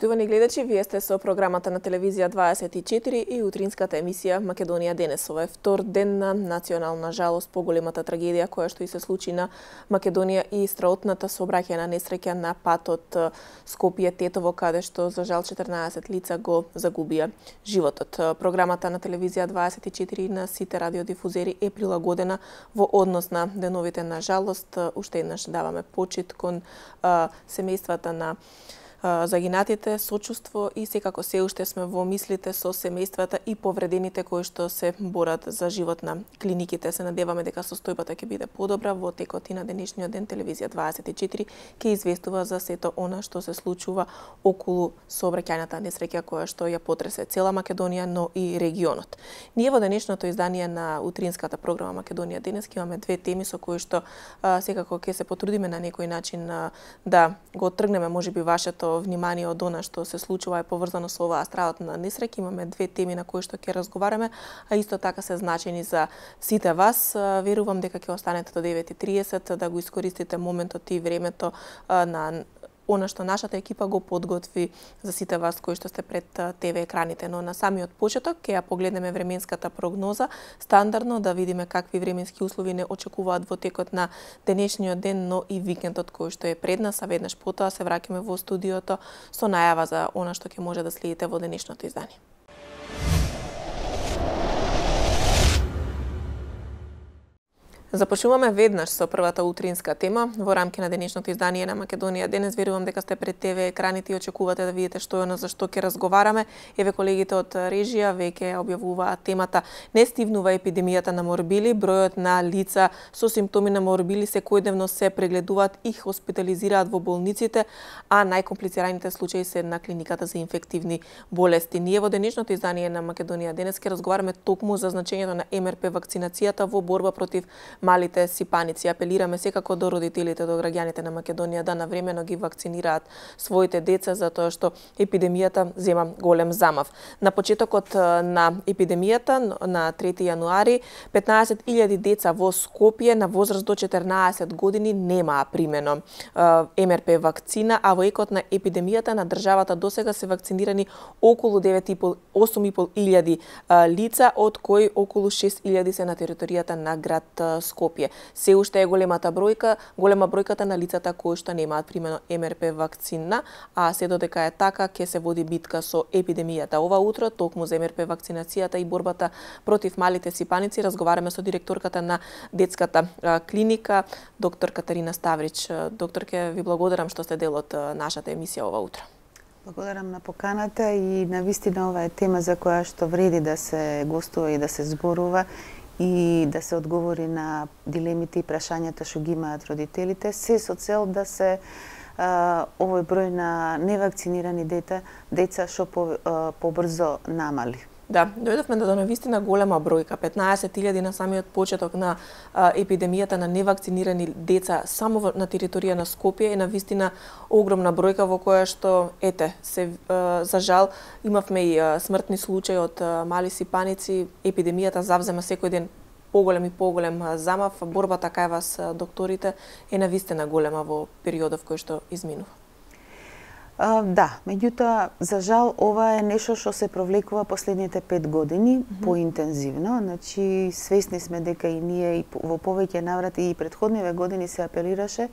Почитувани гледачи, вие сте со програмата на телевизија 24 и утринската емисија Македонија денес. Ова е втор ден на национална жалост по големата трагедија која што и се случи на Македонија и страотната сообраќајна несреќа на патот Скопје-Тетово, каде што за жал 14 лица го загубија животот. Програмата на телевизија 24 на сите радиодифузери е прилагодена во однос на деновите на жалост. Уште еднаш даваме почит кон семејствата на загинатите, сочувство и секако се уште сме во мислите со семејствата и повредените кои што се борат за живот на клиниките. Се надеваме дека состојбата ќе биде подобра. Во текот и на денешниот ден телевизија 24 ќе известува за сето она што се случува околу сообраќајната несреќа која што ја потресе цела Македонија, но и регионот. Ние во денешното издание на утринската програма Македонија денес ќе имаме две теми со кои што секако ќе се потрудиме на некој начин да го тргнеме можеби вашето внимание од она што се случува е поврзано со оваа страотна несреќа. Имаме две теми на кои што ќе разговараме, а исто така се значени за сите вас. Верувам дека ќе останете до 9:30 да го искористите моментот и времето на она што нашата екипа го подготви за сите вас кои што сте пред ТВ екраните. Но на самиот почеток ќе ја погледнеме временската прогноза, стандардно да видиме какви временски услови не очекуваат во текот на денешниот ден, но и викендот кој што е пред нас, а веднаш потоа се враќаме во студиото со најава за она што ќе може да следите во денешното издание. Започнуваме веднаш со првата утринска тема во рамки на денешното издание на Македонија денес. Верувам дека сте пред ТВ екраните и очекувате да видите што е она за што ќе разговараме. Еве колегите од режија веќе објавуваат темата. Не стивнува епидемијата на морбили, бројот на лица со симптоми на морбили секојдневно се прегледуваат и хоспитализираат во болниците, а најкомплицираните случаи се на клиниката за инфективни болести. Ние во денешното издание на Македонија денес ќе разговараме токму за значењето на МРП вакцинацијата во борба против малите сипаници. Апелираме секако до родителите, до граѓаните на Македонија да навремено ги вакцинираат своите деца, затоа што епидемијата зема голем замав. На почетокот на епидемијата, на 3 јануари, 15.000 деца во Скопје на возраст до 14 години немаа примено МРП вакцина, а во екот на епидемијата на државата досега се вакцинирани околу 8.500 лица, од кои околу 6.000 се на територијата на град Скопје. Се уште е голема бројката на лицата кои што немаат примено МРП вакцина, а се додека е така ќе се води битка со епидемијата. Ова утро токму за МРП вакцинацијата и борбата против малите сипаници разговараме со директорката на детската клиника, доктор Катарина Ставрич. Доктор, ќе ви благодарам што сте дел од нашата емисија ова утро. Благодарам на поканата и навистина ова е тема за која што вреди да се гостува и да се зборува и да се одговори на дилемите и прашањата што ги имаат родителите, се со цел да се овој број на невакцинирани деца што побрзо намали. Да, дојдовме до навистина голема бројка, 15.000 на самиот почеток на епидемијата на невакцинирани деца само на територија на Скопје е навистина огромна бројка во која што за жал имавме и смртни случаи од мали сипаници. Епидемијата завзема секој ден поголем и поголем замав. Борбата кај вас, докторите, е навистина голема во периодов кој што изминува. Да, меѓутоа, за жал, ова е нешто што се провлекува последните 5 години поинтензивно. Значи, свесни сме дека и ние и во повеќе наврати и претходниве години се апелираше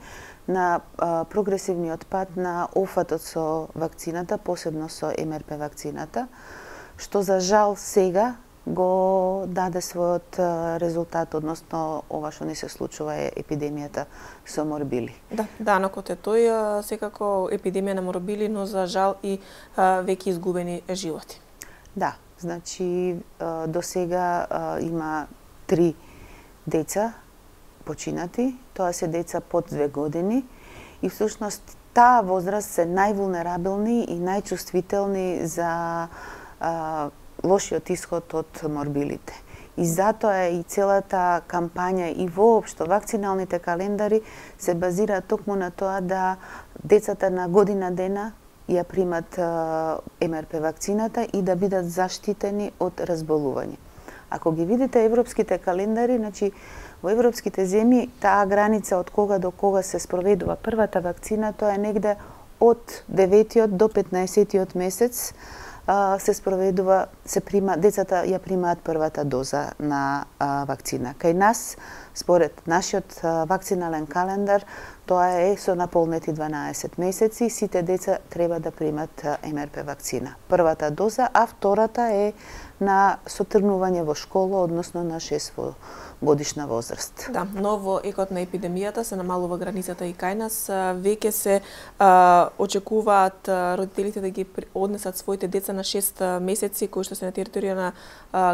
на прогресивниот пат на офатот со вакцината, посебно со МРП вакцината, што за жал сега го даде својот резултат, односно ова што не се случува е епидемијата со морбили. Да, данокот е тој, секако епидемија на морбили, но за жал и веќе изгубени животи. Да, значи до сега има 3 деца починати, тоа се деца под 2 години и всушност таа возраст се највулнерабилни и најчувствителни за лошиот исход од морбилите. И затоа и целата кампања и воопшто вакциналните календари се базираат токму на тоа да децата на година дена ја примат МРП вакцината и да бидат заштитени од разболување. Ако ги видите европските календари, значи во европските земји таа граница од кога до кога се спроведува првата вакцина, тоа е негде од 9-тиот до 15-тиот месец се спроведува, децата ја примаат првата доза на вакцина. Кај нас, според нашиот вакцинален календар, тоа е со наполнети 12 месеци, сите деца треба да примат МРП вакцина. Првата доза, а втората е на сотргнување во школа, односно на 6 годишна возраст. Да, но во екот на епидемијата се намалува границата и кај нас. Веќе се очекуваат родителите да ги однесат своите деца на 6 месеци кои што се на територија на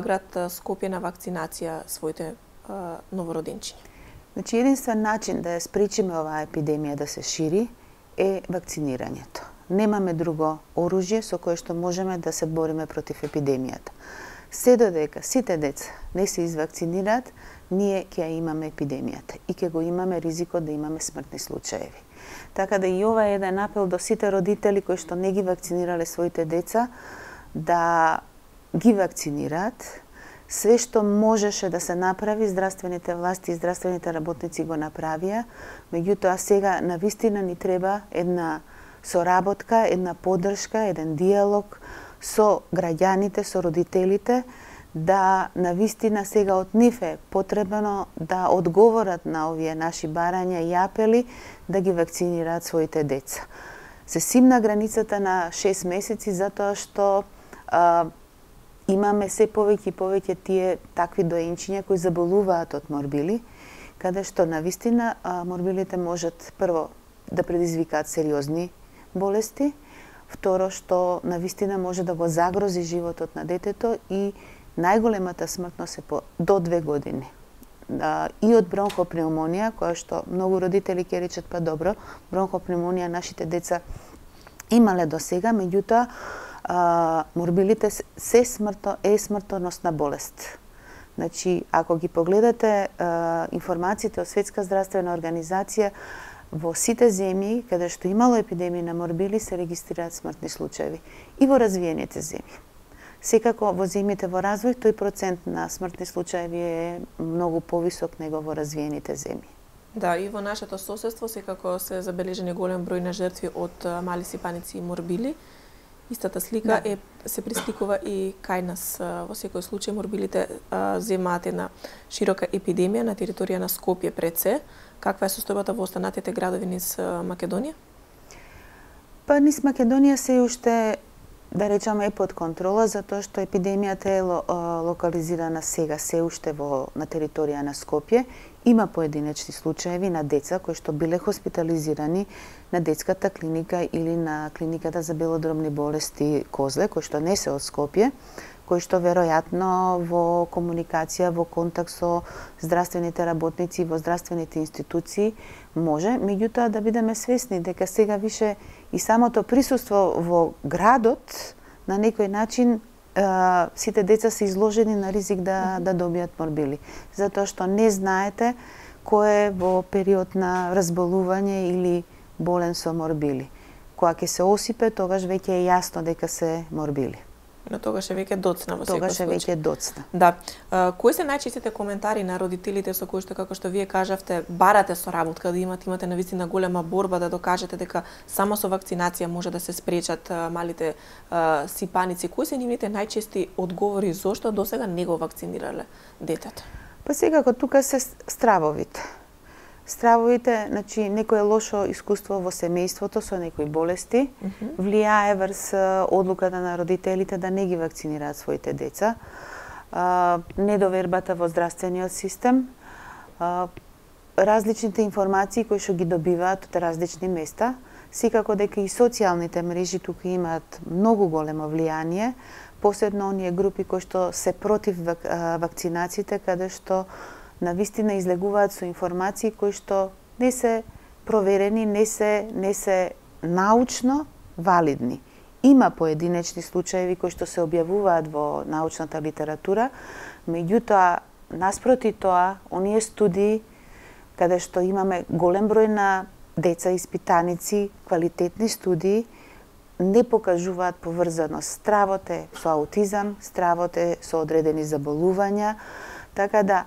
град Скопје на вакцинација своите новороденчиња. Значи, единствен начин да ја спречиме оваа епидемија да се шири е вакцинирањето. Немаме друго оружје со кое што можеме да се бориме против епидемијата. Се додека сите деца не се извакцинираат, ние ќе ја имаме епидемијата и ќе го имаме ризикот да имаме смртни случаеви. Така да и ова е еден апел до сите родители кои што не ги вакцинирале своите деца да ги вакцинираат. Све што можеше да се направи, здравствените власти и здравствените работници го направија, меѓутоа сега навистина ни треба една соработка, една поддршка, еден диалог со граѓаните, со родителите, да навистина сега од нив е потребно да одговорат на овие наши барања и апели да ги вакцинираат своите деца. Се симна границата на 6 месеци затоа што имаме се повеќе и повеќе тие такви доенчиња кои заболуваат од морбили, каде што навистина морбилите можат прво да предизвикаат сериозни болести, второ што навистина може да го загрози животот на детето и најголемата смртност е до 2 години. И од бронхопнеумонија, која што многу родители ќе речат па добро, бронхопнеумонија нашите деца имале до сега, меѓутоа морбилите е смртоносна болест. Значи, ако ги погледате информациите од Светска здравствена организација, во сите земји каде што имало епидемија на морбили се регистрираат смртни случаи и во развиените земји. Секако во земјите во развој тој процент на смртни случаи е многу повисок него во развиените земји. Да, и во нашето соседство секако се забележени голем број на жртви од мали сипаници и морбили. Истата слика се присликува и кај нас. Во секој случај морбилите земаат една широка епидемија на територија на Скопје пред се. Каква е состојбата во останатите градови низ Македонија? Па низ Македонија се уште, да речеме, е под контрола, затоа што епидемијата е локализирана сега се уште на територија на Скопје. Има поединечни случаеви на деца кои што биле хоспитализирани на детската клиника или на клиниката за белодробни болести Козле, кои што не се од Скопје, кои што веројатно во комуникација, во контакт со здравствените работници во здравствените институции може, меѓутоа да бидеме свесни дека сега више и самото присуство во градот на некој начин сите деца се изложени на ризик да добијат морбили, затоа што не знаете кој е во период на разболување или болен со морбили. Кога ќе се осипе, тогаш веќе е јасно дека се морбили. Но тогаш е веќе доцна во секој случај. Тогаш е веќе доцна. Да. Кои се најчестите коментари на родителите со кои што, како што вие кажавте, барате соработка, да имате навистина голема борба да докажете дека само со вакцинација може да се спречат малите сипаници? Кои се нивните најчести одговори зошто досега не го вакцинирале детето? Па секако тука се стравовите. Стравовите, значи некое лошо искуство во семејството со некои болести влијае врз одлуката на родителите да не ги вакцинираат своите деца. Недовербата во здравствениот систем, различните информации кои што ги добиваат од различни места, секако дека и социјалните мрежи тука имаат многу големо влијание, посебно оние групи кои што се против вакцинациите, каде што навистина излегуваат со информации кои што не се проверени, не се научно валидни. Има поединечни случаеви кои што се објавуваат во научната литература, меѓутоа, наспроти тоа, оние студии каде што имаме голем број на деца испитаници, квалитетни студии, не покажуваат поврзаност. Стравот е со аутизам, стравот е со одредени заболувања, така да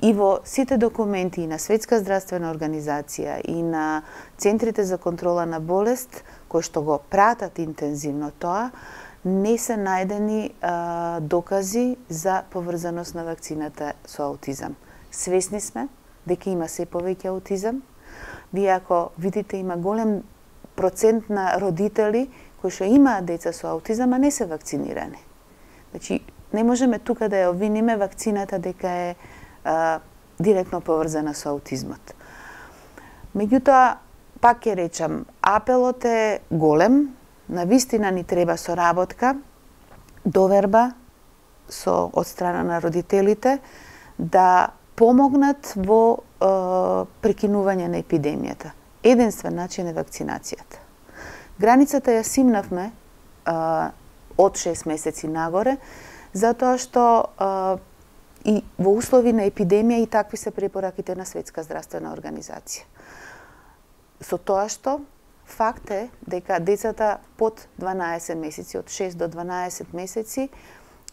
И во сите документи и на Светска здравствена организација и на центрите за контрола на болест, кои што го пратат интензивно тоа, не се најдени докази за поврзаност на вакцината со аутизам. Свесни сме дека има се повеќе аутизам. Вие ако видите, има голем процент на родители кои што имаат деца со аутизам, а не се вакцинирани. Значи, не можеме тука да ја обвиниме вакцината дека е директно поврзана со аутизмот. Меѓутоа, пак ќе речам, апелот е голем, навистина ни треба соработка, доверба од страна на родителите да помогнат во прекинување на епидемијата. Единствен начин е вакцинацијата. Границата ја симнавме од 6 месеци нагоре, затоа што и во услови на епидемија и такви се препораките на Светска здравствена организација. Со тоа што факт е дека децата под 12 месеци, од 6 до 12 месеци,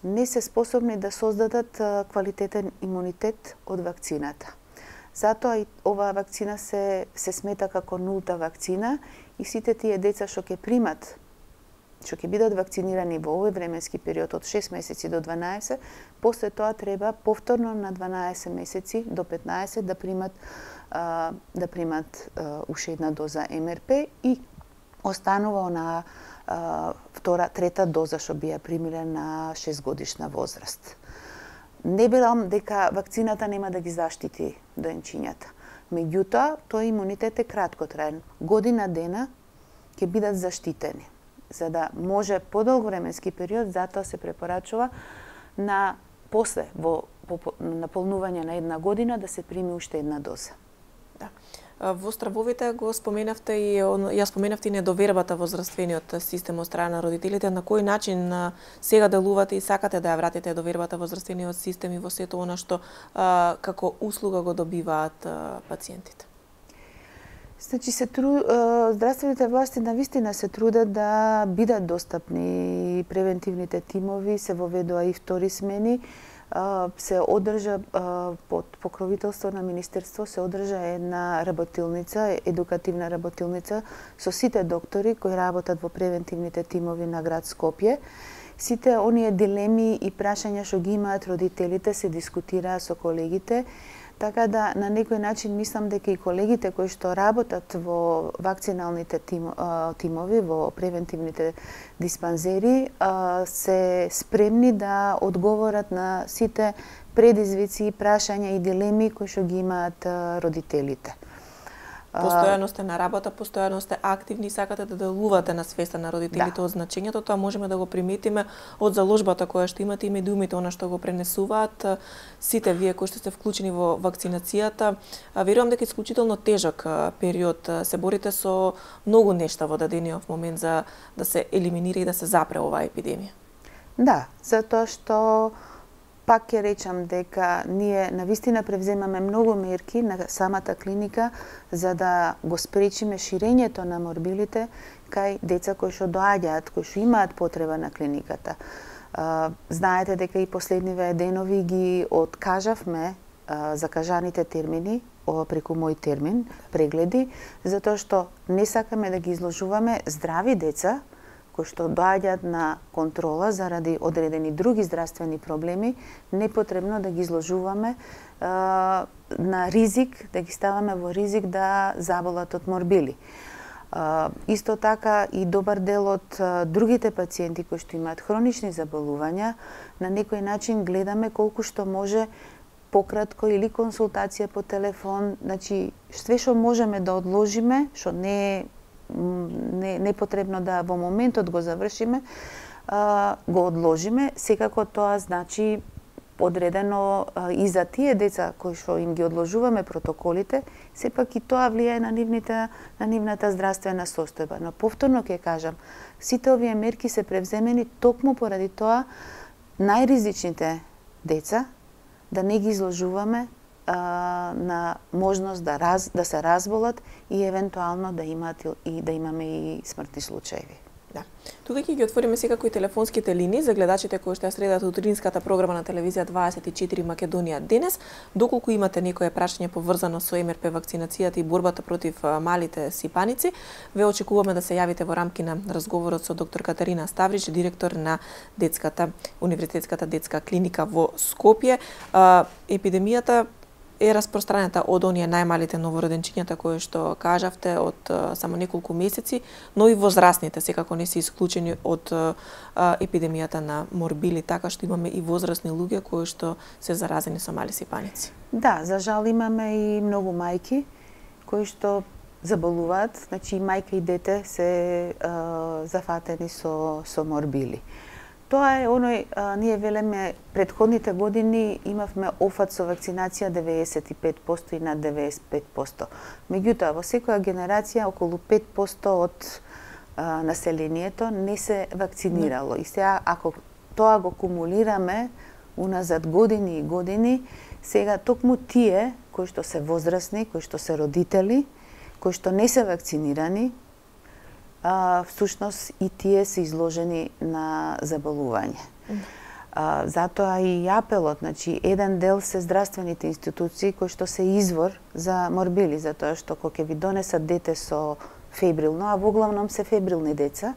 не се способни да создадат квалитетен имунитет од вакцината. Затоа и оваа вакцина се смета како нулта вакцина и сите тие деца што ќе примат, што ќе бидат вакцинирани во овој временски период од 6 месеци до 12, после тоа треба повторно на 12 месеци до 15 да примат уште една доза МРП и останува она трета доза што би ја примиле на 6 годишна возраст. Не велам дека вакцината нема да ги заштити доенчињата. Меѓутоа, тој имунитет е краткотраен. Година дена ќе бидат заштитени. За да може подолг временски период, затоа се препорачува на после во наполнување на една година да се прими уште една доза. Да. Во стравовите го споменавте и ја споменавте и недовербата во здравствениот систем од страна на родителите. На кој начин сега делувате и сакате да ја вратите довербата во здравствениот систем и во сето она што како услуга го добиваат пациентите? Значи, здравствените власти навистина се трудат да бидат достапни. Превентивните тимови се воведува и втори смени. Се одржа под покровителство на Министерство, се одржа една работилница, едукативна работилница со сите доктори кои работат во превентивните тимови на град Скопје. Сите оние дилеми и прашања што ги имаат родителите се дискутираа со колегите. Така да, на некој начин, мислам дека и колегите кои што работат во вакциналните тимови, во превентивните диспанзери, се спремни да одговорат на сите предизвици, прашања и дилеми кои што ги имаат родителите. Постојано сте на работа, постојано сте активни и сакате да делувате на свеста на родителите од значењето. Тоа можеме да го приметиме од заложбата која што имате и медиумите, она што го пренесуваат сите вие кои што сте вклучени во вакцинацијата. Верувам дека исклучително тежок период. Се борите со многу нешта во дадениот момент за да се елиминира и да се запре оваа епидемија. Да, затоа што пак ќе речам дека ние навистина превземаме многу мерки на самата клиника за да го спречиме ширењето на морбилите кај деца кои што доаѓаат, кои што имаат потреба на клиниката. Знаете дека и последниве денови ги откажавме закажаните термини преку мој термин, прегледи, затоа што не сакаме да ги изложуваме здрави деца кои што доаѓаат на контрола заради одредени други здравствени проблеми, непотребно да ги изложуваме на ризик, да ги ставаме во ризик да заболат од морбили. Исто така и добар дел од другите пациенти кои што имаат хронични заболувања, на некој начин гледаме колку што може пократко или консултација по телефон, значи све што можеме да одложиме, што не е потребно да во моментот го завршиме, го одложиме. Секако тоа значи одредено и за тие деца кои што им ги одложуваме протоколите, сепак и тоа влијае на нивната здравствена состојба. Но повторно ќе кажам, сите овие мерки се превземени токму поради тоа најризичните деца да не ги изложуваме на можност да се разболат и евентуално да имаме и смртни случаи. Да. Тука ќе ги отвориме секако и телефонските линии за гледачите кои што ја следат утринската програма на телевизија 24 Македонија денес. Доколку имате некое прашање поврзано со МРП вакцинацијата и борбата против малите сипаници, ве очекуваме да се јавите во рамки на разговорот со доктор Катарина Ставрич, директор на Универзитетската детска клиника во Скопје. Епидемијата е распространета од оние најмалите новороденчињата кои што кажавте од само неколку месеци, но и возрастните секако не се исклучени од епидемијата на морбили, така што имаме и возрастни луѓе кои што се заразени со мали сипаници. Да, за жал имаме и многу мајки кои што заболуваат, значи и мајка и дете се зафатени со морбили. Тоа е оној, ние велеме, предходните години имавме офат со вакцинација 95% и над 95%. Меѓутоа, во секоја генерација околу 5% од населението не се вакцинирало. И сега, ако тоа го кумулираме уназад години и години, сега токму тие кои што се возрастни, кои што се родители, кои што не се вакцинирани, всушност и тие се изложени на заболување. Затоа и апелот, значи еден дел се здравствените институции кои што се извор за морбили, затоа што кога ќе ви донесат дете со фебрилно, а воглавном се фебрилни деца,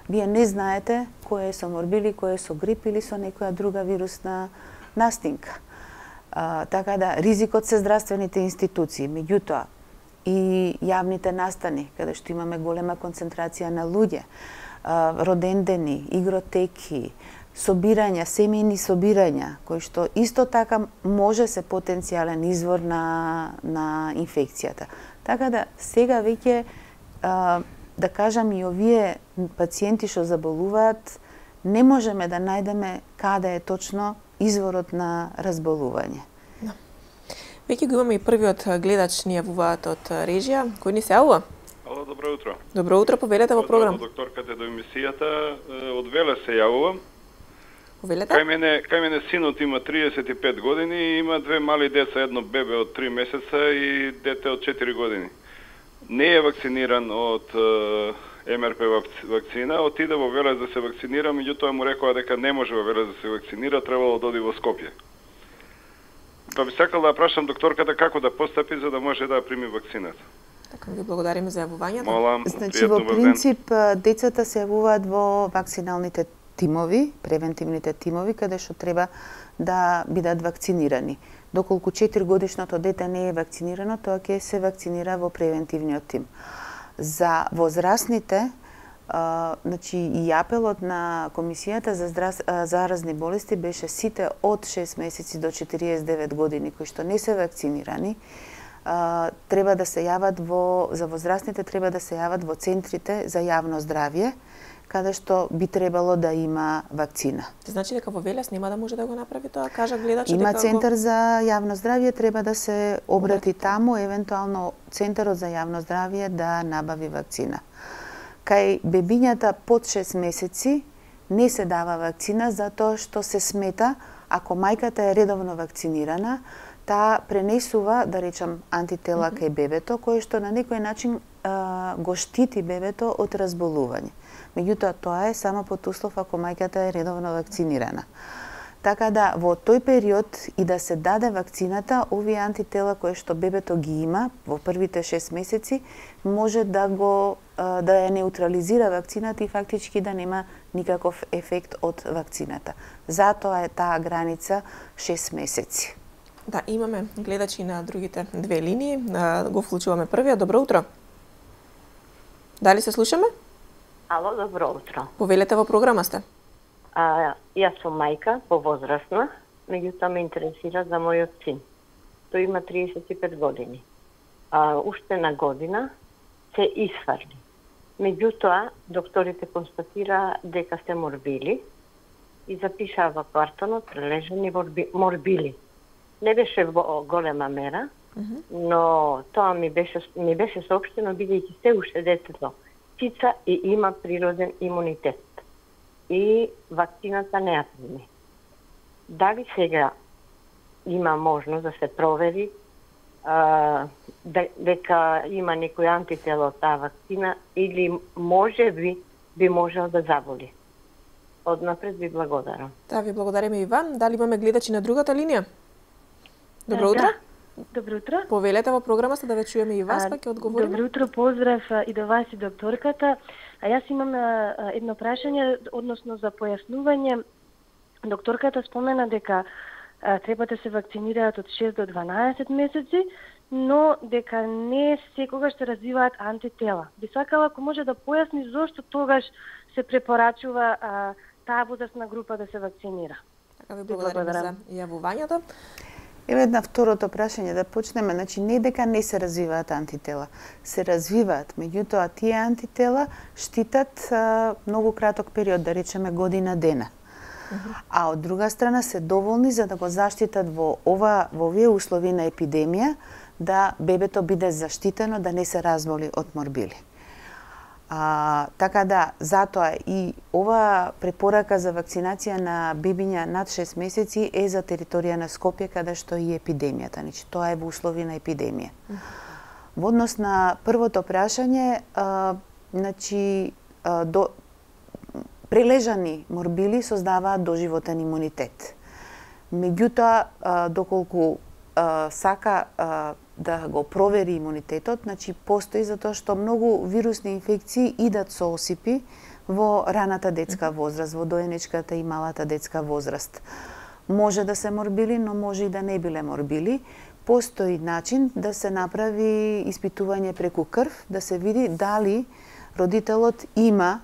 вие не знаете кој е со морбили, кој е со грип или со некоја друга вирусна настинка. Така да, ризикот се здравствените институции, меѓутоа, и јавните настани, каде што имаме голема концентрација на луѓе, родендени, игротеки, собирања, семејни собирања, кои што исто така може се потенцијален извор на инфекцијата. Така да, сега веќе, да кажам, и овие пациенти што заболуваат, не можеме да најдеме каде е точно изворот на разболување. Веќе го имаме и првиот гледач ни јавуваат од режија. Кој ни се јавува? Ало, добро утро. Добро утро, повелете во програм. Докторката до емисијата, од Веле се јавувам. Повелете? Кај мене синот има 35 години и има две мали деца, едно бебе од 3 месеца и дете од 4 години. Не е вакциниран од МРП вакцина, отиде во Велес да се вакцинира, меѓутоа му рекоа дека не може во Велес да се вакцинира, требало да оди во Скопје. Па би сакал да прашам докторката како да постапи за да може да прими вакцината. Така, ви благодариме за јавувањето. Молам, значи, во принцип, децата се јавуваат во вакциналните тимови, превентивните тимови, каде што треба да бидат вакцинирани. Доколку 4 годишното дете не е вакцинирано, тоа ќе се вакцинира во превентивниот тим. За возрастните, значи и апелот на Комисијата за заразни болести беше сите од 6 месеци до 49 години кои што не се вакцинирани, треба да се јават за возрастните треба да се јават во центрите за јавно здравје, каде што би требало да има вакцина. Значи дека во Велес нема да може да го направи тоа, кажа гледачот. Има центар за јавно здравје, треба да се обрати таму, евентуално центарот за јавно здравје да набави вакцина. Кај бебињата под 6 месеци не се дава вакцина затоа што се смета, ако мајката е редовно вакцинирана, таа пренесува, да речам, антитела кај бебето, кое што на некој начин го штити бебето од разболување. Меѓутоа, тоа е само под услов ако мајката е редовно вакцинирана. Така да, во тој период и да се даде вакцината, овие антитела кои што бебето ги има во првите 6 месеци, може да ја неутрализира вакцината и фактички да нема никаков ефект од вакцината. Затоа е таа граница 6 месеци. Да, имаме гледачи на другите две линии. Го вклучуваме првиот. Добро утро. Дали се слушаме? Ало, добро утро. Повелете, во програма сте. Јас сум мајка, повозрастна, меѓутоа ме интересира за мојот син. Тој има 35 години. Уште на година се исфрли. Меѓутоа, докторите констатира дека се морбили и запишаа во картонот прележани морбили. Не беше во голема мера, но тоа ми беше соопштено бидејќи се уште детето цица и има природен имунитет. И вакцината не ја прими. Дали сега има можност да се провери дека има некој антител од таа вакцина или може би би можел да заболи. Однапред ви благодарам. Да, ви благодариме и вам. Дали имаме гледачи на другата линија? Добро утро. Да. Добро утро. Повелете во програмата да ве чуеме и вас, па ќе одговориме. Добро утро, поздрав и до вас и докторката. А јас имам едно прашање, односно за појаснување. Докторката спомена дека треба да се вакцинираат од 6 до 12 месеци, но дека не секогаш се развиваат антитела. Би сакала ако може да појасни зошто тогаш се препорачува таа возрастна група да се вакцинира. Така ви благодариме за јавувањето. Еве една второто прашање да почнеме, значи не дека не се развиваат антитела, се развиваат, меѓутоа тие антитела штитат многу краток период, да речеме година дена. А од друга страна се доволни за да го заштитат во овие услови на епидемија, да бебето биде заштитено, да не се разболи од морбили. Така да, затоа и ова препорака за вакцинација на бебиња над 6 месеци е за територија на Скопје, каде што и епидемијата, значи тоа е во услови на епидемија. Во однос на првото прашање, значи прележани морбили создаваат доживотен имунитет. Меѓутоа, доколку сака да го провери имунитетот, значи постои затоа што многу вирусни инфекции идат со осипи во раната детска возраст, во доенечката и малата детска возраст. Може да се морбили, но може и да не биле морбили. Постои начин да се направи испитување преку крв, да се види дали родителот има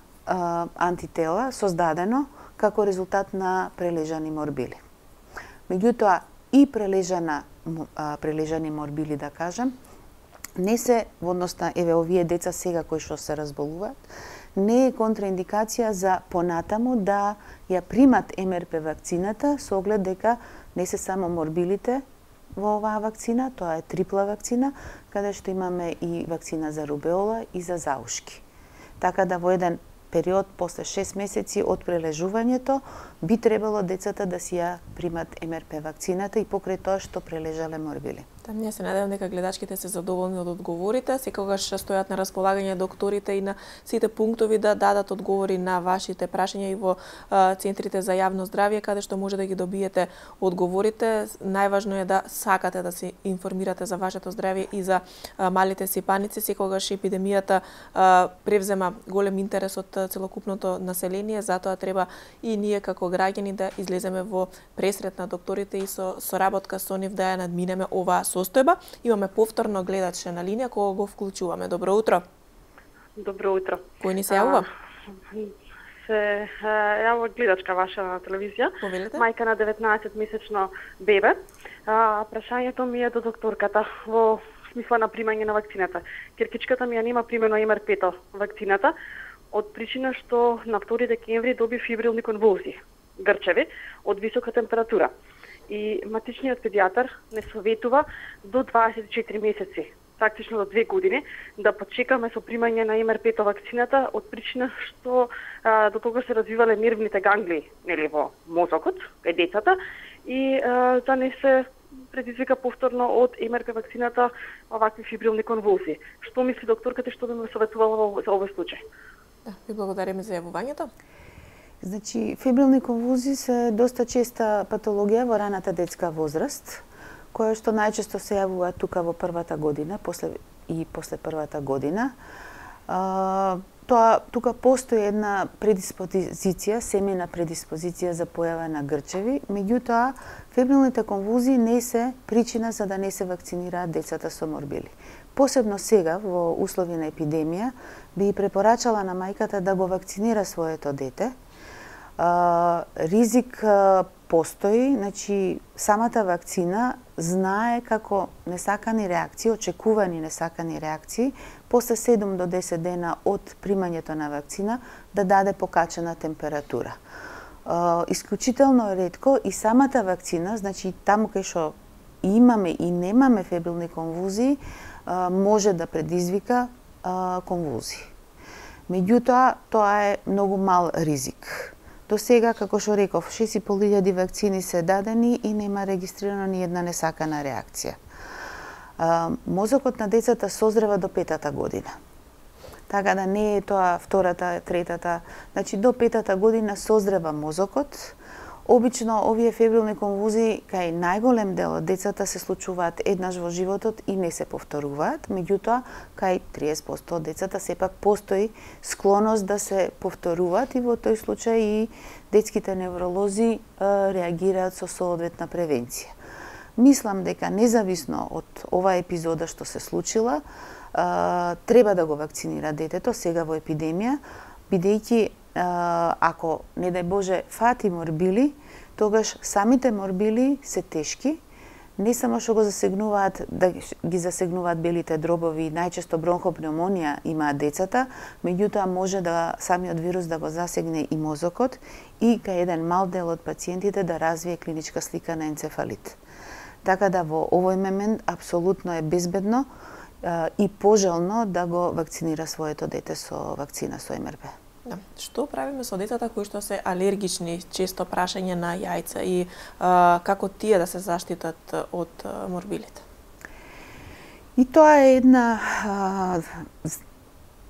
антитела создадено како резултат на прележани морбили. Меѓутоа, и прележани морбили, да кажам, не се во однос на овие деца сега кои што се разболуваат, не е контраиндикација за понатаму да ја примат МРП вакцината со оглед дека не се само морбилите во оваа вакцина, тоа е трипла вакцина, каде што имаме и вакцина за рубеола и за заушки. Така да во еден период после 6 месеци од прележувањето би требало децата да си ја примат МРП вакцината и покрај тоа што прележале морбили. Ние се надевам дека гледачките се задоволни од одговорите. Секогаш стојат на располагање докторите и на сите пунктови да дадат одговори на вашите прашања и во центрите за јавно здравје, каде што може да ги добиете одговорите. Најважно е да сакате да се информирате за вашето здравје и за малите сипаници. Секогаш епидемијата превзема голем интерес од целокупното население, затоа треба и ние како граѓани да излеземе во пресрет на докторите и со соработка со нив да ја надминеме оваа состојба. Имаме повторно гледач на линија кога го вклучуваме. Добро утро. Добро утро. Кој ни се јавува? Се јавува гледачка ваша на телевизија. Повелете? Мајка на 19-месечно бебе. Прашањето ми е до докторката во смисла на примање на вакцината. Киркичката ми ја нема примено МРП-то вакцината од причина што на 2 декември доби фибрилни конвулзии, грчеви, од висока температура. И матичниот педијатар не советува до 24 месеци, практично до 2 години, да почекаме со примање на МРП-то вакцината од причина што до тога се развивале нервните ганглии, нели, во мозокот, кај децата, и да не се предизвика повторно од МРП вакцината овакви фибрилни конвулзии. Што мисли докторката, што би ме советувала за овој случај? Да, ви благодариме за јавувањето. Значи, фибрилни конвулзии се доста честа патологија во раната детска возраст, која што најчесто се јавува тука во првата година, после првата година. Тука постои една предиспозиција, семејна предиспозиција за појава на грчеви, меѓутоа фибрилните конвулзии не се причина за да не се вакцинираат децата со морбили. Посебно сега, во услови на епидемија, би препорачала на мајката да го вакцинира своето дете. Ризик постои, значи самата вакцина знае како несакани реакции, очекувани несакани реакции, после 7 до 10 дена од примањето на вакцина да даде покачена температура. Исклучително ретко и самата вакцина, значи таму кај што имаме и немаме фебрилни конвулзии, може да предизвика конвулзии. Меѓутоа, тоа е многу мал ризик. До сега, како што реков, 6.500 вакцини се дадени и нема регистрирано ни една несакана реакција. Мозокот на децата созрева до 5-та година. Така да не е тоа втората, третата, значи до 5-та година созрева мозокот. Обично овие фебрилни конвулзии кај најголем дел од децата се случуваат еднаш во животот и не се повторуваат, меѓутоа кај 30% од децата сепак постои склоност да се повторуваат и во тој случај и детските невролози реагираат со соодветна превенција. Мислам дека независно од оваа епизода што се случила, треба да го вакцинира детето сега во епидемија, бидејќи ако, не дај Боже, фати морбили, тогаш самите морбили се тешки, не само што го засегнуваат, да ги засегнуваат белите дробови, најчесто бронхопнеумонија имаат децата, меѓутоа може да самиот вирус да го засегне и мозокот и кај еден мал дел од пациентите да развие клиничка слика на енцефалит. Така да во овој момент апсолутно е безбедно и пожелно да го вакцинира своето дете со вакцина со МРП. Да. Што правиме со децата кои што се алергични, често прашање на јајца и како тие да се заштитат од морбилите? И тоа е една,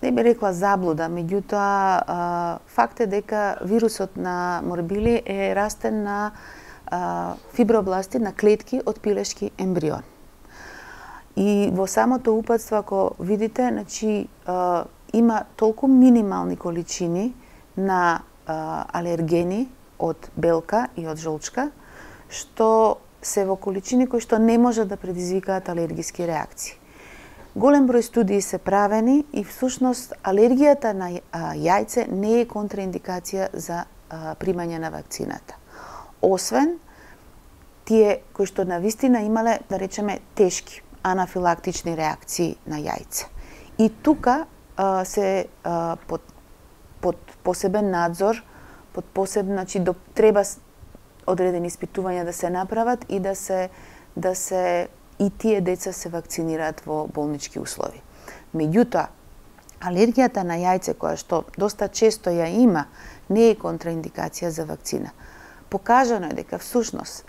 не би рекла заблуда, меѓутоа факт е дека вирусот на морбили е растен на фибробласти, на клетки од пилешки ембрион. И во самото упатство, ако видите, значи, има толку минимални количини на алергени од белка и од жолчка, што се во количини кои што не може да предизвикаат алергиски реакции. Голем број студии се правени и всушност алергијата на јајце не е контраиндикација за примање на вакцината. Освен тие кои што навистина имале, да речеме, тешки анафилактични реакции на јајце. И тука се под посебен надзор, под посебен, значи треба одредени испитувања да се направат и да се и тие деца се вакцинираат во болнички услови. Меѓутоа, алергијата на јајце која што доста често ја има, не е контраиндикација за вакцина. Покажано е дека всушност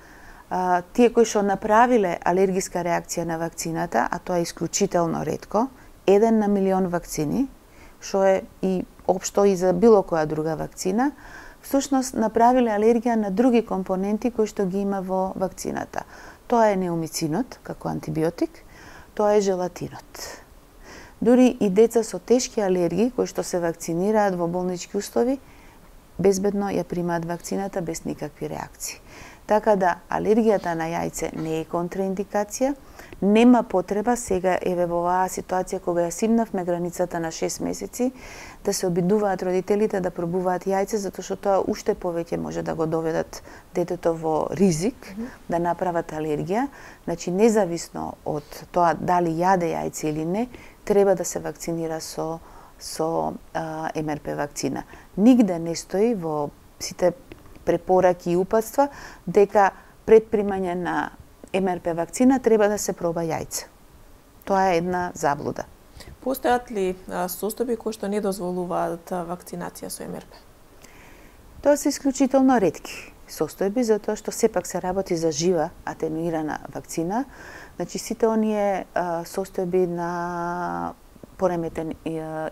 тие кои што направиле алергиска реакција на вакцината, а тоа е исклучително ретко, 1 на милион вакцини, што е и општо и за било која друга вакцина, всушност направиле алергија на други компоненти кои што ги има во вакцината. Тоа е неомицинот како антибиотик, тоа е желатинот. Дури и деца со тешки алергии кои што се вакцинираат во болнички услови, безбедно ја примаат вакцината без никакви реакции. Така да алергијата на јајце не е контраиндикација, нема потреба сега еве во оваа ситуација кога ја симнавме границата на 6 месеци да се обидуваат родителите да пробуваат јајце затоа што тоа уште повеќе може да го доведат детето во ризик да направат алергија. Значи независно од тоа дали јаде јајце или не, треба да се вакцинира со МРП вакцина. Нигде не стои во сите препораки и упатства дека пред примање на МРП вакцина треба да се проба јајце. Тоа е една заблуда. Постојат ли состојби кои што не дозволуваат вакцинација со МРП? Тоа се исклучително ретки состојби, затоа што сепак се работи за жива атенуирана вакцина. Значи сите оние состојби на пореметен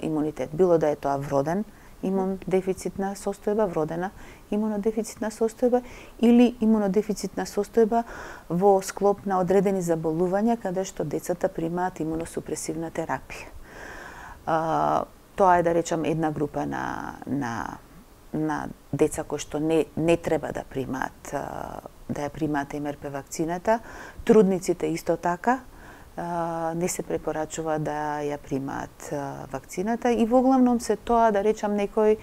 имунитет, било да е тоа вроден имунодефицитна состојба, вродена имунодефицитна состојба или имунодефицитна состојба во склоп на одредени заболувања каде што децата примаат имуносупресивна терапија. Тоа е, да речам, една група на деца кои што не треба да примаат да ја примаат МРП вакцината. Трудниците исто така не се препорачува да ја примаат вакцината и воглавном се тоа, да речам, некои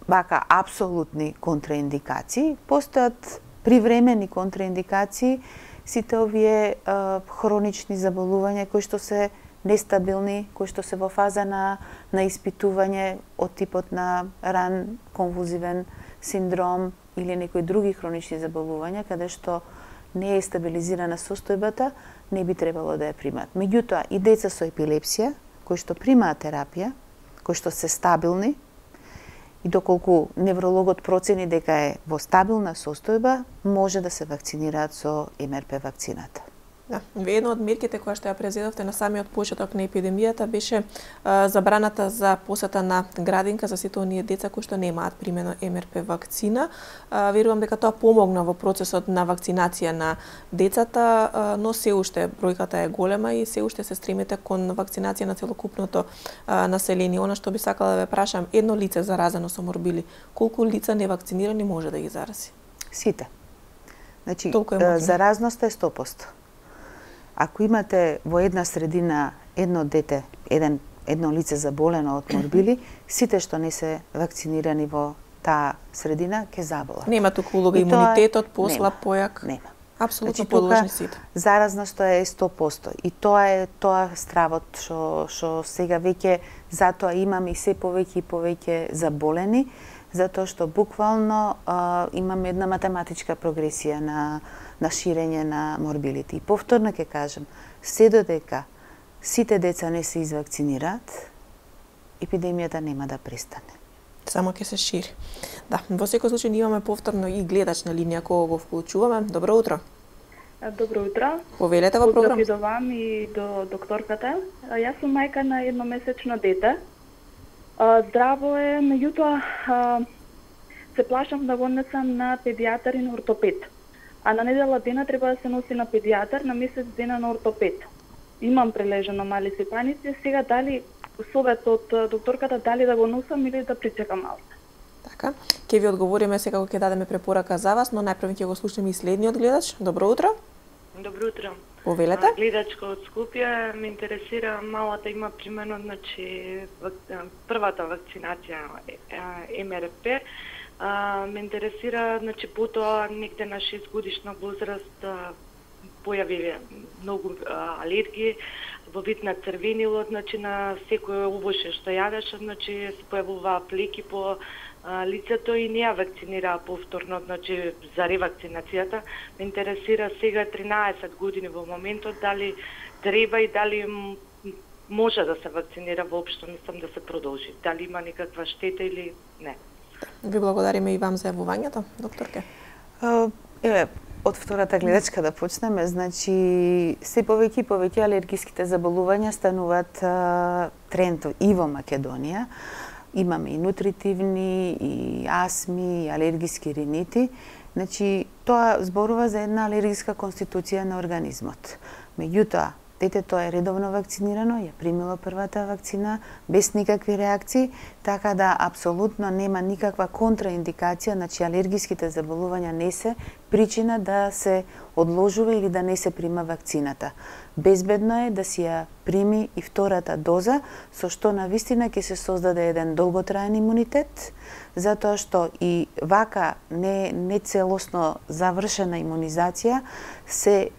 вака апсолутни контраиндикации. Постојат привремени контраиндикации, сите овие хронични заболувања кои што се нестабилни, кои што се во фаза на испитување од типот на ран конвулзивен синдром или некои други хронични заболувања каде што не е стабилизирана состојбата, не би требало да ја примаат. Меѓутоа, и деца со епилепсија, кои што примаат терапија, кои што се стабилни, и доколку неврологот процени дека е во стабилна состојба, може да се вакцинираат со МРП вакцината. Да, една од мерките која што ја презедовте на самиот почеток на епидемијата беше забраната за посета на градинка за сите оние деца кои што немаат примено МРП вакцина. Верувам дека тоа помогна во процесот на вакцинација на децата, но се уште бројката е голема и се уште се стремите кон вакцинација на целокупното население. Она што би сакала да ве прашам, едно лице заразено со морбили, колку лица невакцинирани може да ги зарази? Сите. Значи, заразноста е 100%. Ако имате во една средина едно дете, едно лице заболено од морбили, сите што не се вакцинирани во таа средина ќе заболат. Нема туку улога имунитетот, послаб, појак. Нема. Апсолутно подложни сите. Заразноста е 100%. И тоа е стравот што сега веќе затоа имаме и се повеќе и повеќе заболени, затоа што буквално имаме една математичка прогресија на ширење на морбилите. И повторно ќе кажам, се додека сите деца не се извакцинираат, епидемијата нема да престане. Само ќе се шири. Да, во секој случај имаме повторно и гледач на линија кога го вклучуваме. Добро утро. Добро утро. Повелете во програм. Поздрав и до вам и до докторката. Јас сум мајка на едномесечно дете. Здраво е, меѓутоа се плашам да го однесам на педијатар и на ортопед. А на недела дена треба да се носи на педијатар, на месец дена на ортопед. Имам прележано мали сипаници, сега дали совет од докторката дали да го носам или да причекам малку. Така, ќе ви одговориме сега кога ќе дадеме препорака за вас, но најпрво ќе го слушнеме и следниот гледач. Добро утро. Добро утро. Повелете. Гледачка од Скопје, ме интересира, малата има примерно, значи првата вакцинација МРП. Ме интересира, значи потоа негде на 6 годишна возраст појави многу алергии во вид на црвенило, значи на секој овоше што јадеше, значи се појавуваа плеки по лицето и не ја вакцинираа повторно, значи за ревакцинацијата. Ме интересира сега 13 години во моментот дали треба и дали може да се вакцинира воопшто, мислам да се продолжи. Дали има некаква штета или не. Ви благодариме и вам за јавувањето, докторке. Еве, од втората гледачка да почнеме, значи се повеќе и повеќе алергиските заболувања стануваат тренд и во Македонија. Имаме и нутритивни, и астми, и алергиски ринити. Значи, тоа зборува за една алергиска конституција на организмот. Меѓутоа, детето е редовно вакцинирано, ја примило првата вакцина без никакви реакции, така да апсолутно нема никаква контраиндикација, значи алергиските заболувања не се причина да се одложува или да не се прима вакцината. Безбедно е да си ја прими и втората доза, со што навистина ќе се создаде еден долготраен имунитет, затоа што и вака не целосно завршена имунизација се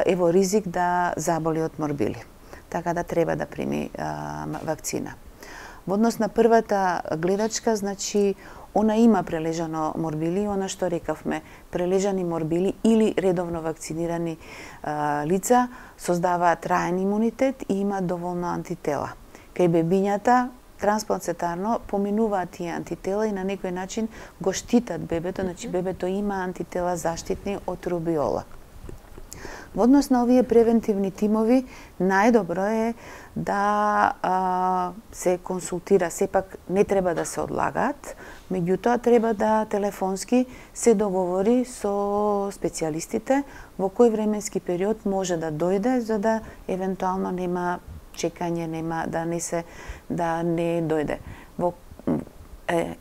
е во ризик да заболи од морбили. Така да треба да прими вакцина. Во однос на првата гледачка, значи она има прележано морбили, она што рекавме, прележани морбили или редовно вакцинирани лица создаваат траен имунитет и има доволно антитела. Кај бебињата трансплацентарно поминуваат тие антитела и на некој начин го штитат бебето, значи бебето има антитела заштитни од рубиола. Во однос на овие превентивни тимови, најдобро е да се консултира, сепак не треба да се одлагаат, меѓутоа треба да телефонски се договори со специјалистите во кој временски период може да дојде, за да евентуално нема чекање, нема да не дојде. Во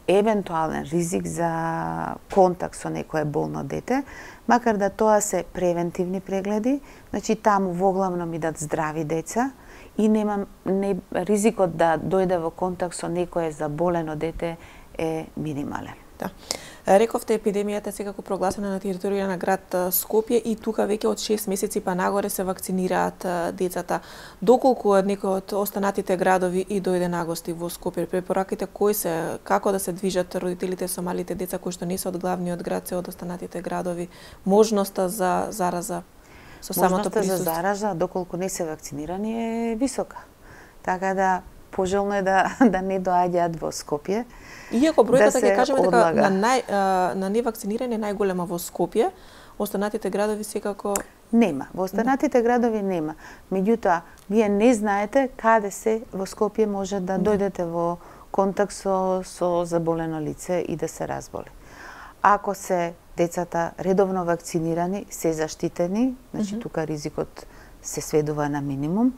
евентуален ризик за контакт со некое болно дете, макар да тоа се превентивни прегледи, значи таму воглавно идат здрави деца и ризикот да дојде во контакт со некое заболено дете е минимален. Да. Рековте, епидемијата е секако прогласена на територија на град Скопје и тука веќе од 6 месеци па нагоре се вакцинираат децата. Доколку од некој од останатите градови и дојде на гости во Скопје, препораките кои се, како да се движат родителите со малите деца кои што не се од главниот град, се од останатите градови, можноста за зараза со самото присуство? Можноста за зараза, доколку не се вакцинирани, е висока. Така да пожелно е да не доаѓаат во Скопје. Иако бројката ќе кажеме дека одлага. на невакцинирани е најголема во Скопје, останатите градови секако нема. Во останатите градови нема. Меѓутоа, вие не знаете каде се во Скопје може да дојдете во контакт со заболено лице и да се разболи. Ако се децата редовно вакцинирани, се заштитени, значи тука ризикот се сведува на минимум.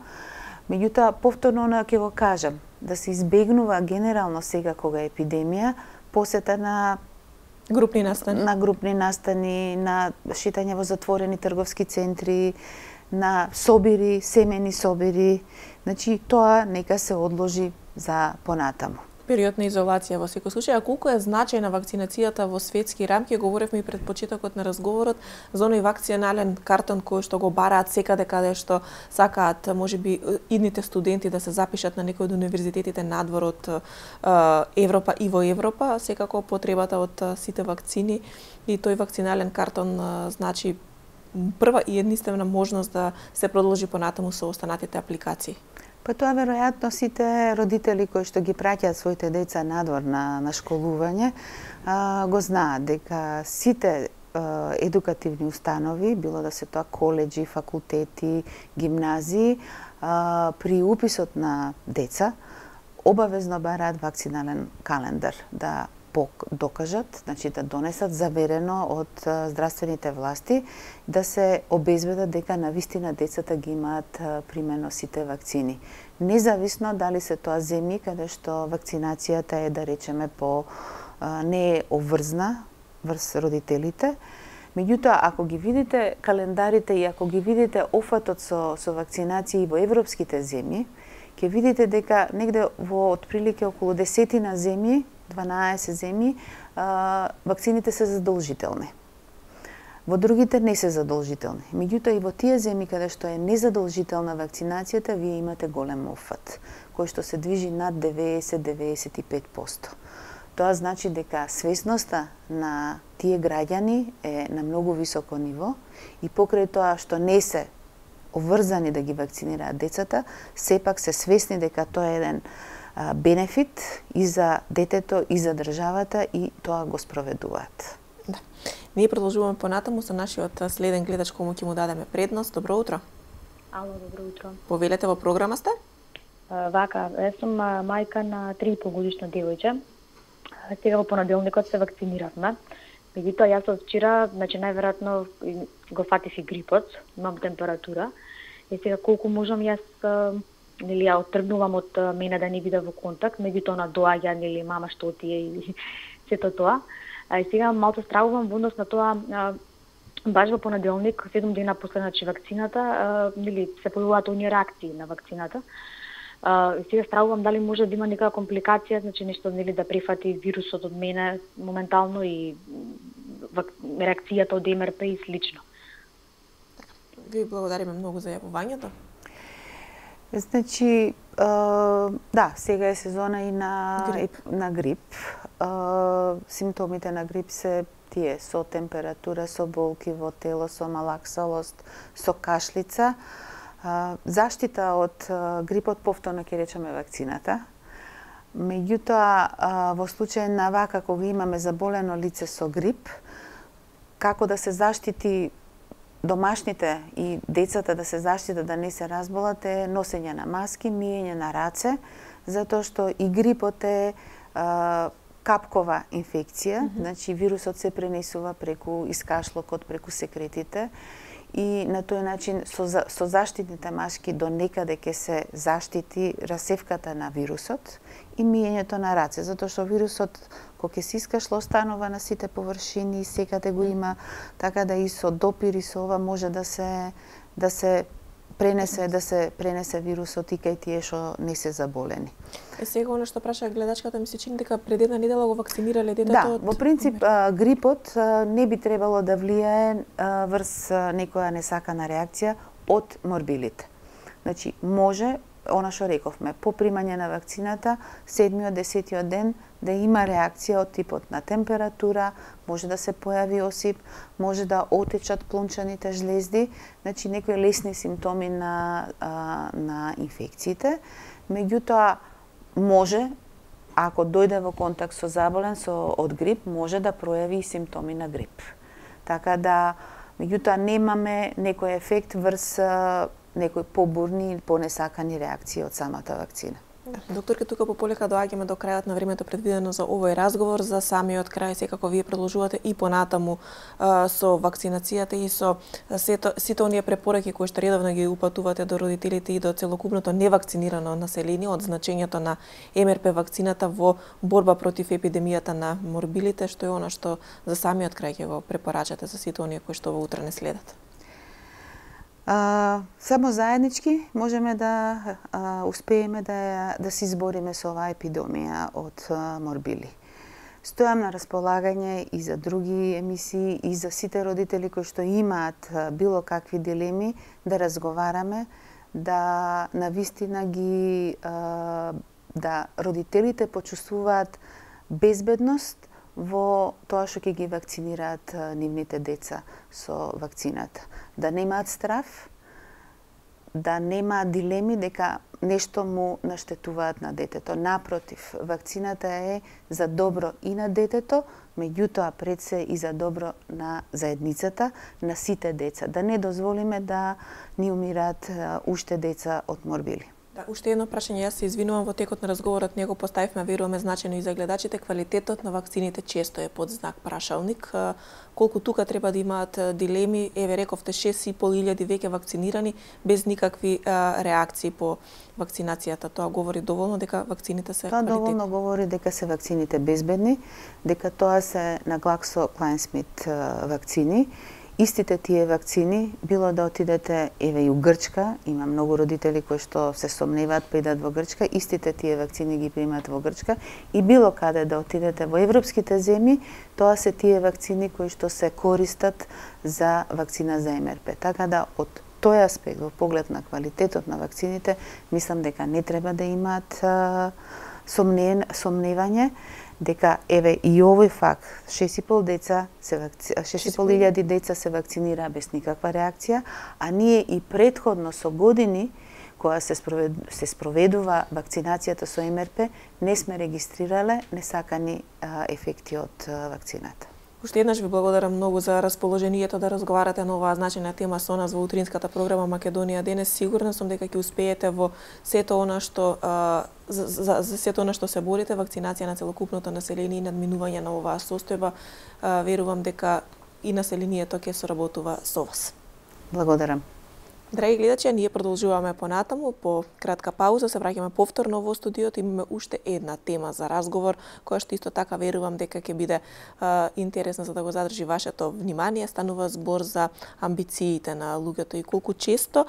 Меѓутоа, повторно ќе го кажам, да се избегнува генерално сега кога е епидемија, посета на групни настани, на шетање во затворени трговски центри, на собири, семени собири. Значи, тоа нека се одложи за понатаму. Период на изолација во секој случај. А колку е значајна вакцинацијата во светски рамки? Говоревме и пред почетокот на разговорот за оној вакцинален картон кој што го бараат секаде каде што сакаат, можеби идните студенти да се запишат на некој од универзитетите надвор од Европа и во Европа, секако потребата од сите вакцини и тој вакцинален картон значи прва и единствена можност да се продолжи понатаму со останатите апликации. Па тоа веројатно сите родители кои што ги праќаат своите деца надвор на школување го знаат дека сите едукативни установи, било да се тоа коледжи, факултети, гимназии, при уписот на деца обавезно бараат вакцинален календар да докажат, значи да донесат заверено од здравствените власти, да се обезбедат дека навистина децата ги имаат примено сите вакцини. Независно дали се тоа земји каде што вакцинацијата е, да речеме, не е обврзна врз родителите. Меѓутоа, ако ги видите календарите и ако ги видите офатот со вакцинации во европските земји, ќе видите дека негде во отприлике околу 10 земји, 12 земји, вакцините се задолжителни. Во другите не се задолжителни. Меѓутоа и во тие земји каде што е незадолжителна вакцинацијата, вие имате голем офат, кој што се движи над 90-95%. Тоа значи дека свесноста на тие граѓани е на многу високо ниво и покрај тоа што не се обврзани да ги вакцинираат децата, сепак се свесни дека тоа е еден бенефит и за детето, и за државата, и тоа го спроведуваат. Да. Ние продолжуваме понатаму со нашиот следен гледач кому ќе му дадеме предност. Добро утро. Ало, добро утро. Повелете, во програма сте? Вака, јас сум мајка на 3,5 годишно девојче. Сега во понеделникот се вакциниравме. Меѓутоа, јас од вчера, значи најверојатно го фатив и грипот, имам температура. И сега колку можам јас нели ја оттргнувам од мене да не биде во контакт, меѓутоа на доаѓа нели мама што отие и сето тоа. И сега малку стравувам во однос на тоа, баш во понеделник, 7 дена после значи вакцината, нели се појавуваат оние реакции на вакцината. И сега стравувам дали може да има некаква компликација, значи нешто нели да прифати вирусот од мене моментално и реакцијата од МРП и слично. Ви благодариме многу за јавувањето. Значи, да, сега е сезона и на грип. Симптомите на грип се тие со температура, со болки во тело, со малаксалост, со кашлица. Заштита од грипот повторно ќе речеме вакцината. Меѓутоа, во случај на вака кога имаме заболено лице со грип, како да се заштити домашните и децата да се заштитат да не се разболат е носење на маски, миење на раце, затоа што и грипот е капкова инфекција, значи вирусот се пренесува преку искашлокот, преку секретите и на тој начин со заштитните маски до некаде ќе се заштити расевката на вирусот и миењето на раце, затоа што вирусот кога ќе се искашла останува на сите површини, секаде го има, така да и со допир и со ова може да се пренесе вирусот и кај тие што не се заболени. Сега оно што праша гледачката ми се чини дека пред една недела го вакцинирале детето. Да, во принцип грипот не би требало да влијае врз некоја несакана реакција од морбилите. Значи може, она што рековме, по примање на вакцината, 7-тиот, 10-тиот ден да има реакција од типот на температура, може да се појави осип, може да отечат плунчаните жлезди, значи некои лесни симптоми на инфекциите. Меѓутоа, може, ако дојде во контакт со заболен од грип, може да пројави и симптоми на грип. Така да, Меѓутоа немаме некој ефект врз некои побурни или понесакани реакции од самата вакцина. Докторке, тука пополека доаѓаме до крајот на времето предвидено за овој разговор. За самиот крај, секако вие продолжувате и понатаму со вакцинацијата и со сите оние препораки кои што редовно ги упатувате до родителите и до целокупното невакцинирано население од значењето на МРП вакцината во борба против епидемијата на морбилите, што е она што за самиот крај ќе го препорачате за сите оние кои што во утре не следат. Само заеднички можеме да успееме да се избориме со оваа епидемија од морбили. Стојам на располагање и за други емисии и за сите родители кои што имаат било какви дилеми да разговараме, да навистина ги да родителите почувствуваат безбедност во тоа што ќе ги вакцинираат нивните деца со вакцината. Да немаат страф, да немаат дилеми дека нешто му наштетуваат на детето. Напротив, вакцината е за добро и на детето, меѓутоа пред се и за добро на заедницата, на сите деца. Да не дозволиме да ни умираат уште деца од морбили. Да, уште едно прашање, јас се извинувам, во текот на разговорот него поставивме, веруваме, значено и за гледачите, квалитетот на вакцините често е под знак прашалник. Колку тука треба да имаат дилеми, еве рековте 6.500 веќе вакцинирани без никакви реакции по вакцинацијата. Тоа говори доволно дека вакцините се квалитетни. Тоа доволно говори дека се вакцините безбедни, дека тоа се на GlaxoSmithKline вакцини. Истите тие вакцини, било да отидете еве и у Грчка, има многу родители кои што се сомневаат па идат во Грчка, истите тие вакцини ги примаат во Грчка и било каде да отидете во европските земји, тоа се тие вакцини кои што се користат за вакцина за МРП. Така да од тој аспект, во поглед на квалитетот на вакцините, мислам дека не треба да имаат сомневање дека еве и овој факт 6.500 деца се вакцинираа без никаква реакција, а ние и претходно со години кога се спроведува вакцинацијата со МРП не сме регистрирале несакани ефекти од вакцината. Уште еднаш ви благодарам многу за расположението да разговарате на оваа значајна тема со нас во утринската програма Македонија денес. Сигурна сум дека ќе успеете во сето она што за сето она што се борите, вакцинација на целокупното население и надминување на оваа состојба. Верувам дека и населението ќе соработува со вас. Благодарам. Драги гледачи, ние продолжуваме понатаму, по кратка пауза се враќаме повторно во студиото. Имаме уште една тема за разговор, која што исто така верувам дека ќе биде интересна за да го задржи вашето внимание. Станува збор за амбициите на луѓето и колку често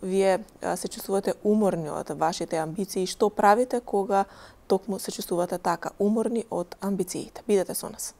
вие се чувствувате уморни од вашите амбиции, што правите кога токму се чувствувате така уморни од амбициите. Бидете со нас.